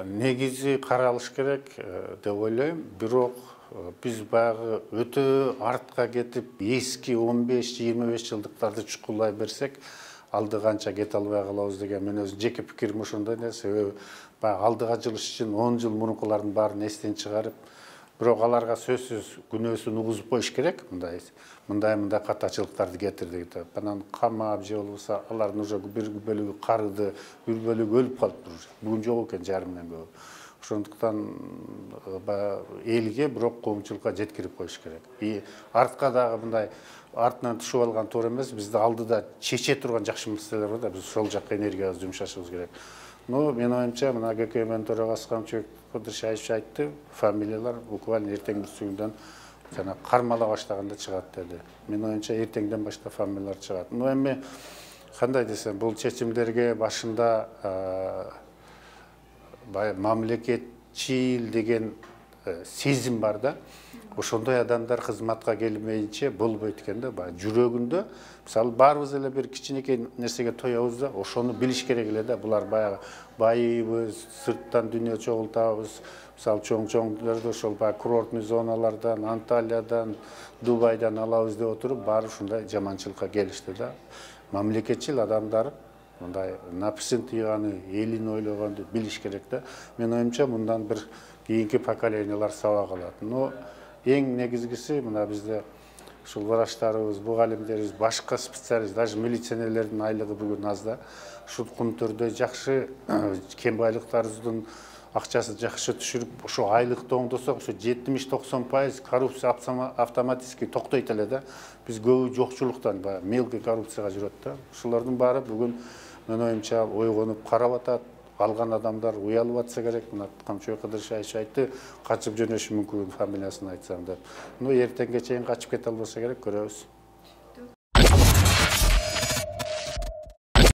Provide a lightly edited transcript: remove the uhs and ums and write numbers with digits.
негизи каралыш керек деп ойлойм. Бирок биз баягы өтө артка кетип, эски 15-25 жылдыктарды чукулай берсек, алды канча кете албай калабыз деген мен өзүм жеке пикирим ошондой да. Себеби баягы алдыга жылыш үчүн 10 жыл мурункулардын баарын эстен чыгарып, бирок аларга сөзсүз күнөөсүн угузуп коюш керек. Мындай катачылыктарды кетирдик деп. Анан камап же болбосо алардын уже бир бөлүгү карыды, бир бөлүгү өлүп калыптыр. Бүгүн жок экен жарымынан көбү. Ошондуктан элге бирок коомчулукка жеткирип коюш керек. И артка дагы мындай артынан түшүп алган туура эмес. Бизде алдыда чече турган жакшы маселелер бар да, биз ошол жакка энергиябызды жумшашыбыз керек. Но мен оюмча мына ГКМ төрагасы Камчыбек Кыдыршаевич айтты, фамилиялар буквально эртең бүрсүгүндөн жана кармала баштаганда чыгат деди. Мен оюмча эртеңден баштап фамилиялар чыгат. Но эми кандай десем, бул чечимдерге башында мамлекетчил деген сезим бар да. Ошондой адамдар кызматка келмейинче болбойт экен да. Жүрөгүндө, мисалы, баарыбыз эле бир кичинекей нерсеге тоебуз да, ошону билиш керек эле да. Булар баягы байыбыз, сырттан дүйнө чогултабыз. Мисалы, чоң-чоңдөрдө ошол курортный зоналардан, Анталиядан, Дубайдан алабыз деп отуруп, баары ушундай жаманчылыкка келишти да. Мамлекетчил адамдар мындай напсын тыйганы, элин ойлогонду билиш керек да. Мен оюмча мындан бир кийинки поколениялар сабак алат. Но эң негизгиси мына бизде ушул врачтарыбыз, мугалимдерибиз, башка специалист, даже милиционерлердин айлыгы бүгүн аз да. Ушул күндөрдө жакшы кем байлыктарыбыздын акчасы жакшы түшүрүп, ошо айлыкты оңдосок, ошо 70-90% коррупция автоматически токтойт эле да. Биз көбү жокчулуктан мелкий коррупцияга жүрөт да. Ушулардын баары бүгүн мен оюмча ойгонуп карап атат. Алган адамдар уялып атса керек. Мына Камчыбек Кыдыршаевич айтты, качып жөнөшү мүмкүн фамилиясын айтсам деп. Но эртеңге чейин качып кете албаса керек, көрөбүз.